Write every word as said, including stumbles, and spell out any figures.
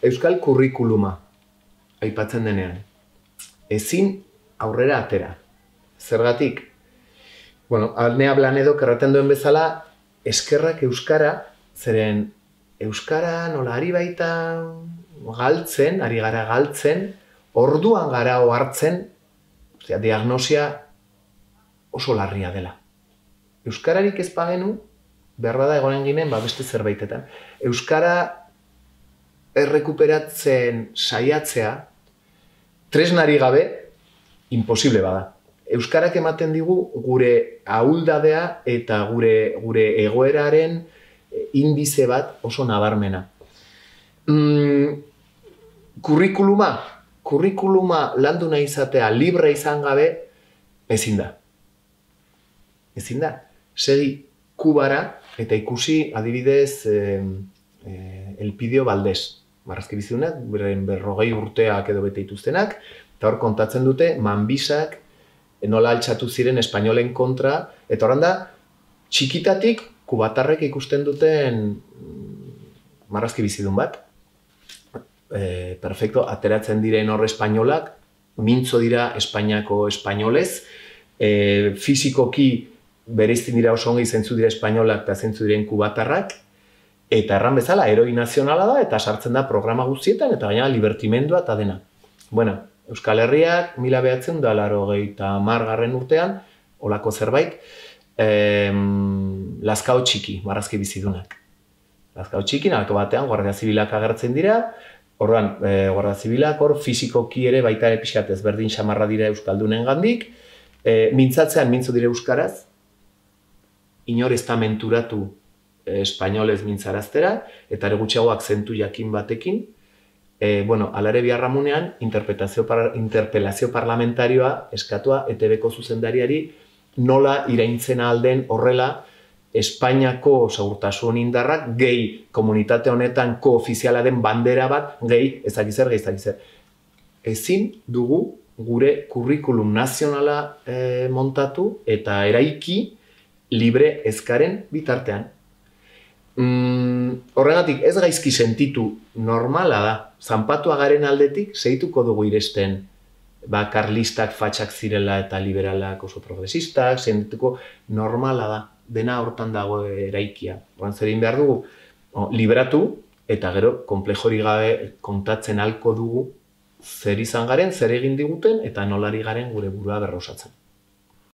euskal kurrikuluma aipatzen denean. Ezin aurrera atera. Zergatik? Bueno, Alnea Blanedok erraten duen bezala, eskerrak euskara, zeren euskara nola ari baita galtzen, ari gara galtzen, orduan gara ohartzen, osea, diagnosia oso larria dela. Euskararik ez bagenu, behar bada egonen ginen, ba, beste zerbaitetan. Euskara errekuperatzen saiatzea, tresnari gabe, imposible bada. Euskarak ematen digu gure ahuldadea eta gure, gure egoeraren indize bat oso nabarmena. Mm, kurrikuluma, kurrikuluma landu nahi izatea libre izan gabe, ezin da. Ezin da. Segi Kubara eta ikusi adibidez eh, eh, Elpidio Valdés. Marrazki bizidunak, berrogei urteak edo bete dituztenak, eta hor kontatzen dute manbisak nola altxatu ziren espainolen kontra, eta horan da, txikitatik kubatarrek ikusten duten marrazki bizidun bat. E, perfecto, ateratzen diren hor espainolak, mintzo dira Espainiako espainolez, e, fizikoki bereizten dira oso ongi zentzu dira espainolak eta zentzu diren kubatarrak, eta erran bezala, heroi nazionala da, eta sartzen da programa guztietan, eta gaina libertimendua eta dena. Bueno, Euskal Herriak, mila behatzen da, laurogeita hamar garren urtean, olako zerbait, eh, Lazkao txiki, marrazki bizidunak. Lazkao txiki, nalako batean, Guardia Zibilak agertzen dira, orduan, eh, Guardia Zibilak hor fizikoki ere baita ere pixkat ezberdin xamarra dira Euskaldunen gandik, eh, mintzatzean mintzo dire Euskaraz, inor ez da menturatu eh, espainolez mintzaraztera, eta ere gutxiago akzentu jakin batekin, E, bueno, alare biharramunean, par, interpelazio parlamentarioa eskatua E T Bko zuzendariari nola iraintzen alden horrela Espainiako segurtasun indarrak gehi komunitate honetan koofiziala den bandera bat gehi ezakizer, gehi ezakizer. Ezin dugu gure kurrikulum nazionala e, montatu eta eraiki libre ezkaren bitartean. Mm, horregatik ez gaizki sentitu normala da. Zanpatua garen aldetik segituko dugu iresten ba, karlistak fatxak zirela eta liberalak oso progresistak, sentituko normala da. Dena hortan dago eraikia. Horan zerin behar dugu o, liberatu eta gero konplejori gabe kontatzen halko dugu zer izan garen, zer egin diguten eta nolari garen gure burua berrosatzen.